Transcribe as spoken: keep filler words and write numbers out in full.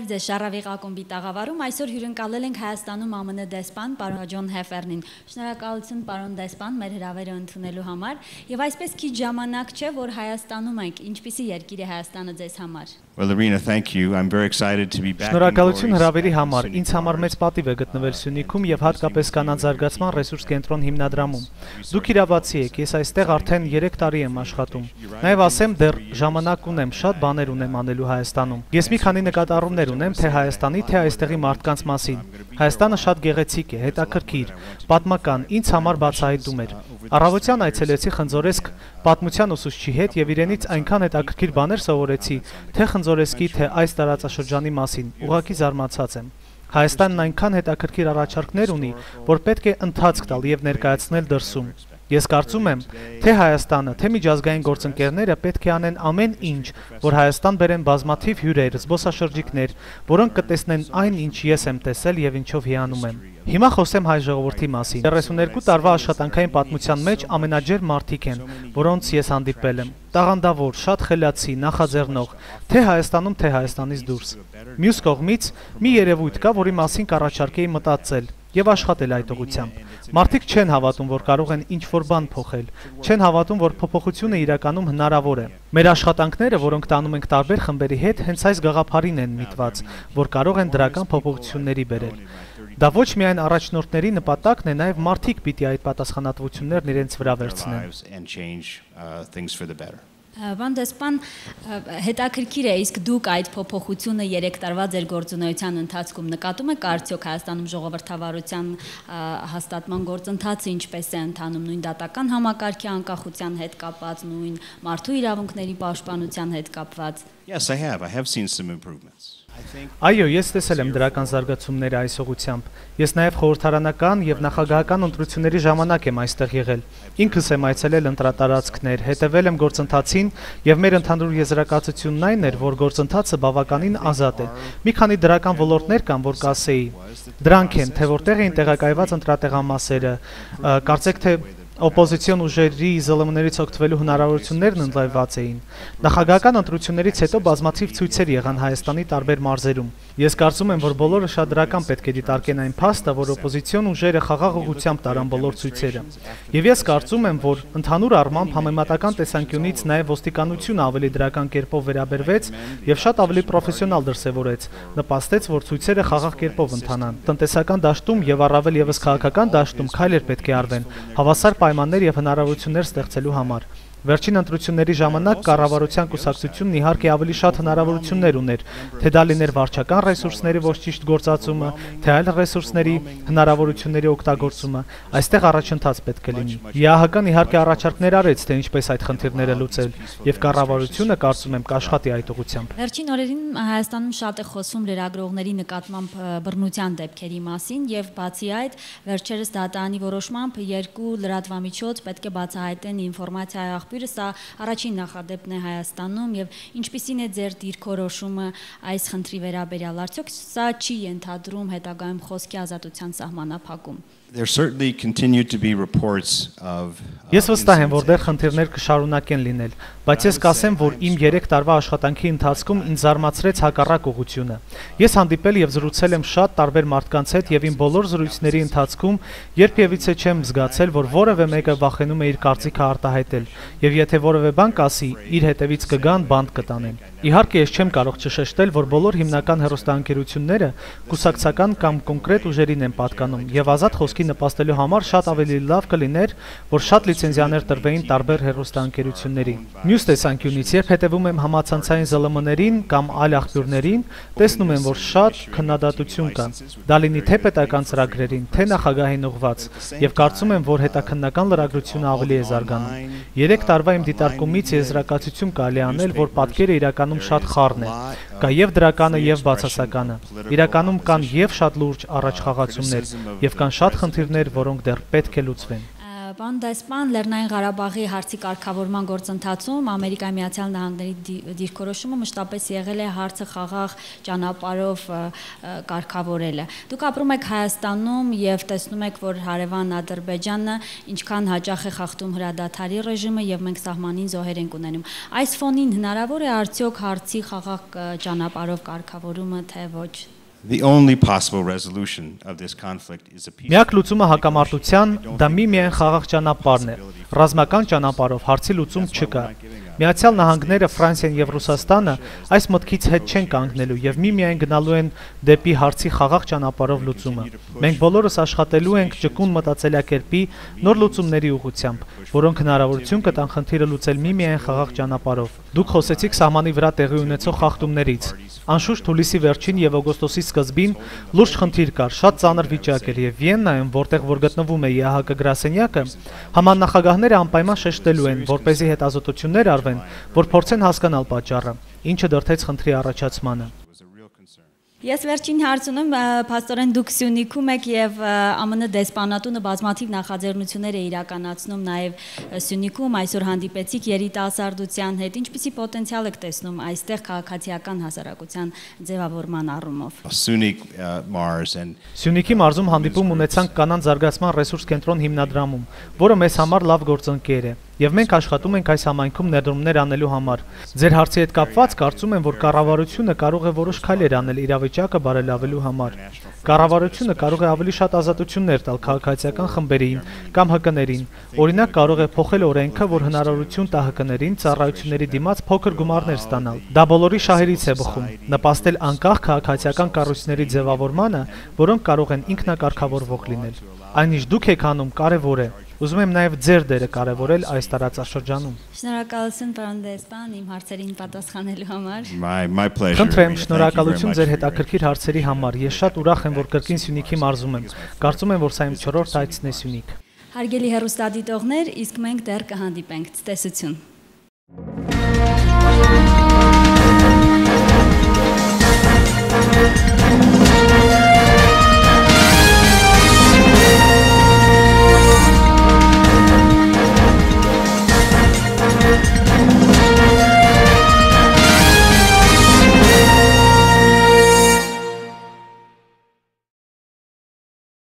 ձեզ Շարավիղ ակումբի տաղավարում այսօր հյուրընկալել ենք Հայաստանում ԱՄՆ դեսպան պարոն Ջոն Հեֆերնին։ Շնորհակալություն պարոն դեսպան մեր հրավերը ընդունելու համար եւ այսպես քիչ ժամանակ չէ որ Հայաստանում ենք, ինչպիսի երկիր է Հայաստանը ձեզ համար։ Well, Irina, thank you. I'm very excited to be back. Շնորհակալություն հրավերի համար։ Ինձ համար մեծ պատիվ է գտնվել Սյունիքում եւ հատկապես կանանց զարգացման ռեսուրս կենտրոն հիմնադրամում։ Դուք իրավացի եք, ես այստեղ արդեն երեք տարի եմ աշխատում։ Նաեւ ասեմ, դեռ ժամանակ ունեմ, շատ բաներ ունեմ անելու Հայաստանում։ Ես մի քանի նկատառումներ ունեմ թե Հայաստանի, թե այստեղի մարդկանց մասին։ Հայաստանը շատ գեղեցիկ է, հետաքրքիր, պատմական, ինձ համար բացահայտում էր։ Առավոտյան այցելեցի Խնձորեսկ պատմության ուսուցչի հետ եւ իրենից այնքան հետաքրքիր բաներ սովորեցի, թե Խնձորեսկի, թե այս տարածաշրջանի մասին, ուղղակի զարմացած եմ։ Հայաստանն այնքան հետաքրքիր առաջարկներ ունի, որ պետք է ընթացք տալ եւ ներկայացնել դրսում։ Ես կարծում եմ, թե Հայաստանը, թե միջազգային գործընկերները պետք է անեն ամեն ինչ, որ Հայաստան բերեն բազմաթիվ հյուրեր, զբոսաշրջիկներ, որոնք կտեսնեն այն, ինչ ես եմ տեսել եւ ինչով հիանում եմ։ Հիմա խոսեմ հայ ժողովրդի մասին։ երեսուներկու տարվա աշխատանքային պատմության մեջ ամենաջեր մարդիկ են, որոնց ես հանդիպել եմ։ Տաղանդավոր, շատ խելացի, նախաձեռնող, թե Հայաստանում, թե Հայաստանից դուրս։ Մյուս կողմից մի երևույթ կա, որի մասին կառաջարկեի մտածել եւ աշխատել այդ ուղղությամբ։ Մարդիկ չեն հավատում, որ կարող են ինչ-որ բան փոխել, չեն հավատում, որ փոփոխությունը իրականում հնարավոր է։ Մեր աշխատանքները, որոնք տանում ենք տարբեր խմբերի հետ, հենց այս գաղափարին են միտված, որ կարող են դրական փոփոխությունների բերել։ Դա ոչ միայն առաջնորդների նպատակն է, նաև մարդիկ պիտի այդ պատասխանատվություններն իրենց վրա վերցնեն։ Պարոն դեսպան, հետաքրքիր է, իսկ դուք այդ փոփոխությունը երեք տարվա ձեր գործունեության ընթացքում նկատում եք արդյոք Հայաստանում ժողովրդավարության հաստատման գործընթացը ինչպես է ընթանում, նույն դատական համակարգի անկախության հետ կապված, նույն մարդու իրավունքների պաշտպանության հետ կապված։ Yes, I have. I have seen some improvements. Այո, ես տեսել եմ դրական զարգացումները այս ուղղությամբ։ Ես նաև խորհրդարանական եւ նախագահական ընտրությունների ժամանակ եմ այստեղ եղել։ Ինքս եմ այցելել ընտրատարածքներ, հետևել եմ գործընթացին եւ մեր ընդհանուր եզրակացությունն այն էր, որ գործընթացը բավականին ազատ է։ Մի քանի դրական ոլորտներ կան, որ կասեի։ Դրանք են, թե որտեղ էին տեղակայված ընտրատեղամասերը, կարծեք թե օպոզիցիոն ուժերի զլմ-ներից օգտվելու հնարավորություններն ընդլայնված էին։ Նախագահական ընտրություններից հետո բազմաթիվ ցույցեր եղան Հայաստանի տարբեր մարզերում։ Ես կարծում եմ, որ բոլորը շատ դրական պետք է դիտարկեն այն փաստը, որ օպոզիցիոն ուժերը խաղաղ ուղղությամբ տարան բոլոր ցույցերը։ Եվ ես կարծում եմ, որ ընդհանուր առմամբ համեմատական տեսանկյունից նաև ոստիկանությունը ավելի դրական կերպով վերաբերվեց եւ շատ ավելի պրոֆեսիոնալ դրսևորեց, նպաստեց, որ ցույցերը խաղաղ կերպով ընթանան։ Տնտեսական դաշտում եւ առավել եւս քաղաքական դաշտում քայլեր պետք է արվեն, հավասար պայմաններ եւ հնարավորություններ ստեղծելու համար։ Վերջին ընտրությունների ժամանակ կառավարության կուսակցությունն իհարկե ավելի շատ հնարավորություններ ուներ, թե դա լիներ վարչական ռեսուրսների ոչ ճիշտ գործածումը, թե այլ ռեսուրսների հնարավորությունների օգտագործումը, այստեղ առաջընթաց պետք է լինի։ ԵԱՀԿ-ն իհարկե առաջարկներ արեց, թե ինչպես այդ խնդիրները լուծել, եւ կառավարությունը կարծում եմ կաշխատի այդ ուղղությամբ։ Վերջին օրերին Հայաստանում շատ է խոսում լրագրողների նկատմամբ բռնության դեպքերի մասին եւ բացի այդ, վերջերս դատարանի որոշմամբ երկու լրատվամիջոց պետք է բացահայտեն ինֆորմացիա Սա առաջին նախադեպն է Հայաստանում եւ ինչպիսին է ձեր դիրքորոշումը այս խնդրի վերաբերյալ, արդյոք սա չի ենթադրում հետագայում խոսքի ազատության սահմանափակում։ There certainly continue to be reports of Ես վստահ եմ, որ դեռ խնդիրներ կշարունակեն լինել, բայց ես կասեմ, որ իմ երեք տարվա աշխատանքի ընթացքում ինձ զարմացրեց հակառակ ուղղությունը։ Ես հանդիպել եւ զրուցել եմ շատ տարբեր մարդկանց հետ եւ իմ բոլոր զրույցների ընթացքում երբևիցե չեմ զգացել, որ որևէ մեկը վախենում է իր կարծիքը արտահայտել եւ եթե որևէ բան կասի, իր հետևից կգան, բանտ կտանեն։ Իհարկե ես չեմ կարող չշեշտել, որ բոլոր հիմնական հեռուստաընկերությունները կուսակցական կամ կոնկրետ ուժերին են պատկանում եւ ազատ խոսքի նպաստելու համար շատ ավելի լավ կլիներ, որ շատ լիցենզիաներ տրվեին տարբեր հեռուստաընկերությունների։ Մյուս տեսանկյունից, երբ հետևում եմ համացանցային զլմ-ներին կամ այլ աղբյուրներին, տեսնում եմ, որ շատ քննադատություն կա։ Դա լինի թե պետական ծրագրերին, թե նախագահին ուղղված, եւ կարծում եմ, որ հետաքննական լրագրությունը ավելի է զարգանում։ Երեք տարվա իմ դիտարկումից եզրակացություն կարելի անել, որ պատկերը իրականում շատ խառն է։ Կա եւ դրականը եւ բացասականը։ Իրականում կան եւ շատ լուրջ առաջխաղացումներ եւ կան շատ խնդիրներ, որոնք դեռ պետք է լուծվեն։ Պարոն դեսպան, Լեռնային Ղարաբաղի հարցի կարգավորման գործընթացում Ամերիկայի Միացյալ Նահանգների դիրքորոշումը մշտապես եղել է հարցը խաղաղ ճանապարհով կարգավորելը։ Դուք ապրում եք Հայաստանում եւ տեսնում եք, որ հարևան Ադրբեջանը ինչքան հաճախ է խախտում հրադադարի ռեժիմը եւ մենք սահմանին զոհեր ենք ունենում։ Այս ֆոնին հնարավոր է արդյոք հարցի խաղաղ ճանապարհով կարգավորումը, թե ոչ։ The only possible resolution of this conflict is a peaceful. Միակ լուծումը հակամարտության դա միմիայն խաղաղ ճանապարհն է։ Ռազմական ճանապարհով հարցի լուծում չկա։ Միացյալ Նահանգները, Ֆրանսիան եւ Ռուսաստանը այս մտքից հետ չեն կանգնելու եւ միմիայն գնալու են դեպի հարցի խաղաղ ճանապարհով լուծումը։ Մենք բոլորս աշխատելու ենք ճկուն մտածելակերպի նոր լուծումների ուղղությամբ, որոնք հնարավորություն կտան խնդիրը լուծել միմիայն խաղաղ ճանապարհով։ Դուք խոսեցիք սահմանի վրա տեղի ունեցող խախտումներից։ Անշուշտ հուլիսի վերջին եւ օգոստոսի սկզբին լուրջ խնդիր կար, շատ ծանր վիճակ էր եւ Վիեննայում, որտեղ որ գտնվում է ԵԱՀԿ գրասենյակը, համանախագահները անպայման շեշտելու են, որպեսզի հետազոտություններ արվեն, որ փորձեն հասկանալ պատճառը, ինչը դրդեց խնդրի առաջացմանը։ Ես վերջին հարցնում փաստորեն դուք Սյունիքում եք եւ ԱՄՆ դեսպանատունը բազմաթիվ նախաձեռնություններ է իրականացնում նաեւ Սյունիքում, այսօր հանդիպեցիք երիտասարդության հետ, ինչպիսի պոտենցիալ եք տեսնում այստեղ քաղաքացիական հասարակության ձևավորման առումով։ Սյունիքի մարզում հանդիպում ունեցանք կանանց զարգացման ռեսուրս կենտրոն հիմնադրամում, որը մեզ համար լավ գործընկեր է։ Եվ մենք աշխատում ենք այս համայնքում ներդրումներ անելու համար։ Ձեր հարցի հետ կապված կարծում եմ, որ կառավարությունը կարող է որոշ քայլեր անել իրավիճակը բարելավելու համար։ Կառավարությունը կարող է ավելի շատ ազատություններ տալ քաղաքացիական խմբերին կամ Հ Կ-ներին։ Օրինակ կարող է փոխել օրենքը, որ հնարավորություն տա Հ Կ-ներին ծառայությունների դիմաց փոքր գումարներ ստանալ։ Դա բոլորի շահերից է բխում, նպաստել անկախ քաղաքացիական կառույցների ձևավորմանը, որոնք կարող են ինքնակարգավորվող լինել։ Այն ինչ դուք եք անում, կարևոր է։ Ուզում եմ նաև ձեր դերը կարևորել այս տարածաշրջանում։ Շնորհակալություն, պարոն դեսպան, իմ հարցերին պատասխանելու համար։ Խնդրեմ, շնորհակալություն ձեր հետաքրքիր հարցերի համար։ Ես շատ ուրախ եմ, որ կրկին Սյունիքի մարզում եմ։ Կարծում եմ, որ սա իմ չորրորդ այցն է Սյունիք։ Հարգելի հեռուստադիտողներ, իսկ մենք դեռ կհանդիպենք։ Ցտեսություն։